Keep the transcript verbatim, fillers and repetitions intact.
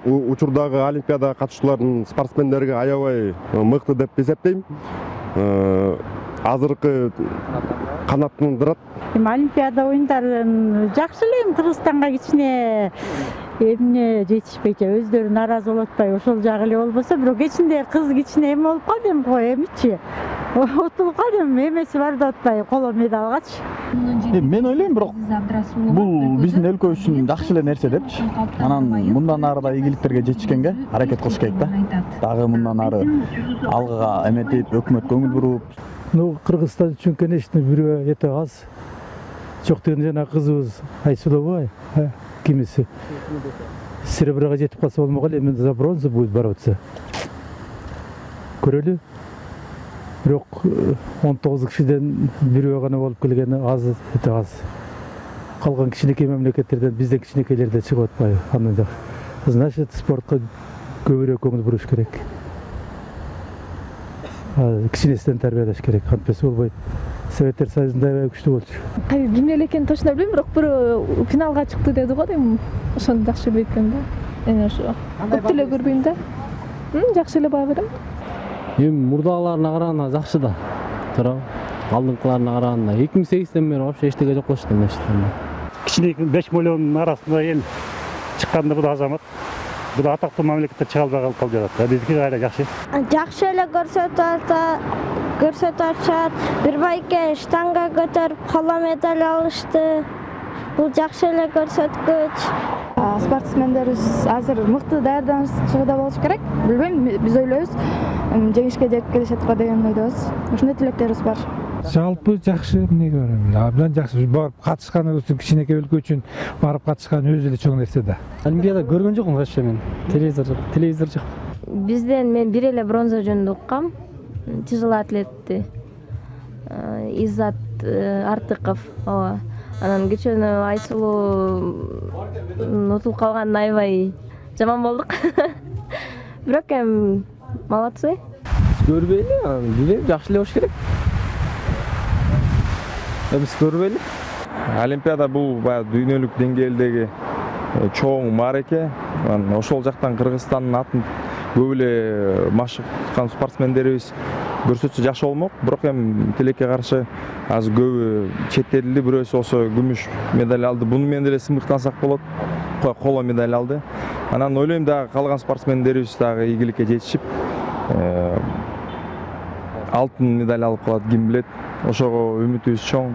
учурдагы олимпиада катышуулардын спортсмендерге аябай мыкты деп эсептейм. Азыркы канаттандырат. Эми олимпиада оюндарын жакшы эле, эми Кыргызстанга кичине эмне жетишпейт, өздөрү нааразы болуп атпайбы, ошол жагы эле болбосо, бирок кечинде кыз кичине эме болуп калды эми го, эмичи утулуп калды, эми эмеси бар деп атпайбы, коло медалгачы. Мен ойлойм, бирок бул биздин өлкө үчүн жакшы эле нерсе депчи. Анан мындан ары да ийгиликтерге жетишкенге аракет кылыш керек да. Дагы мындан ары алгыга эметип, өкмөт көңүл буруп. Ну, Кыргызстан үчүн, конечно, бирөө эте аз. Жок дегенде жана кызыбыз Айсулова, кимиси серебрага жетип калса болмок эле, эми за бронза будет бороться. Көрөлү. Бирок он тогуз кишиден бирөө гана болуп келгени аз, эте аз. Калган кичинекей мамлекеттерден бизден кичинекейлерде чыгып атпайбы. Аны значит, спортко көбүрөөк көңүл буруш керек. Кичинесинен тарбиялаш керек, антпесе болбойт. Советтер Союзунда аябай күчтүү болчу. Кимдер эле экенин точно билбейм, бирок бирөө финалга чыкты деди го дейм. Ошону жакшы билбейм да. Эми ошо көп эле көрбөйм да. Жакшы эле баа берем. Эми мурдагыларына караганда жакшы да. Тура. Алдыңкыларына караганда эки миң сегизден бери вообще эчтеке жок болчу да мечтемде. Кичинекей беш миллиондун арасында эл чыкканда бул азамат. Бул атактуу мамлекеттер чыга албай калып жатат. Биздики кайра жакшы. Жакшы эле көрсөтүп атат, көрсөтүп атышат. Бир байке штанга көтөрүп коло медаль алышты. Бул жакшы эле көрсөткүч. Спортсмендерибиз азыр мыкты даярданышчыда болуш керек. Билбейм, биз ойлойбуз, жеңишке жетип келишет го деген ойдобуз. Ушундай тилектерибиз бар. Жалпы жакшы, эмнеге барам? Абдан жакшы. Барып катышканыбыз үчүн, кичинекей өлкө үчүн барып катышкан өзү эле чоң нерсе да. Олимпиада көргөн жокмун вообще мен. Телевизор жок, телевизор жок. Бизден мен бир эле бронза жөнүндө уккам. Тяжело атлетти. Иззат Артыков, ооба. Анан кечөнү Айсулуу утулуп калганын аябай жаман болдук. Бирок эми молодцы. Көрбөйлү, билбейм, жакшы эле болуш керек. Биз көрбөйлү. Олимпиада бул баягы дүйнөлүк деңгээлдеги чоң маареке. Ошол жактан Кыргызстандын атын көп эле машыктан спортсмендерибиз көрсөтсө жакшы болмок. Бирок эми тилекке каршы азыр көбү чет элдүү, бирөөсү болсо күмүш медаль алды. Буну менен деле сымыктансак болот. Коло медаль алды. Анан ойлойм дагы калган спортсмендерибиз дагы ийгиликке жетишип, алтын медаль алып калат, ким билет. Ошого үмүтүбүз чоң.